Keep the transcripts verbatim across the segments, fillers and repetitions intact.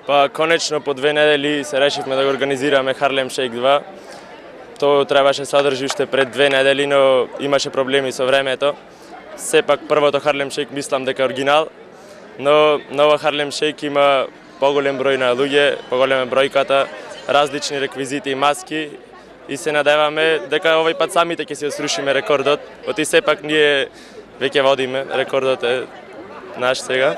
Па конечно по две недели се решивме да го организираме Harlem Shake два. Тоа требаше содржи уште пред две недели, но имаше проблеми со времето. Сепак првото Harlem Shake мислам дека е оригинал, но нова Harlem Shake има поголем број на луѓе, поголема бројката, различни реквизити и маски и се надеваме дека овој пат самите ќе си срушиме рекордот. Оти сепак ние веќе водиме, рекордот е наш сега.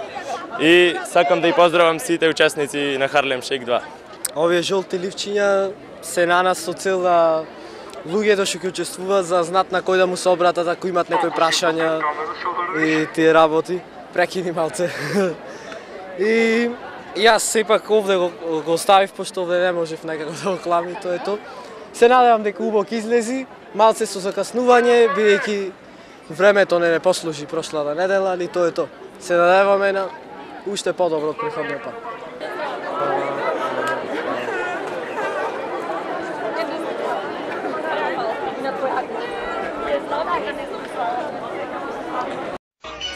И сакам да и поздравам сите учесници на Harlem Shake два. Овие жолти ливчиња се на нас со цел да луѓето што ќе учествуваат за знат на кој да му се обратат ако имат некои прашања и тие работи. Прекини малце. И јас сепак овде го, го оставив, пошто овде не можев некако да го клами, тоа е тоа. Се надевам дека убаво ќе излези, малце со закаснување, бидејќи времето не не послужи прошлата недела, али тоа е тоа. Се надеваме на уште подобро од претходниот пат.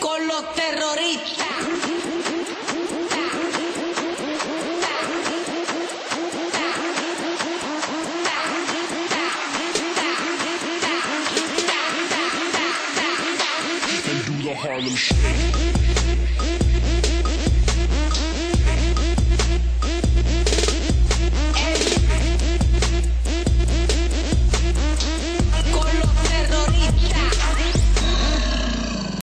Con los terroristas. And do the Harlem Shake.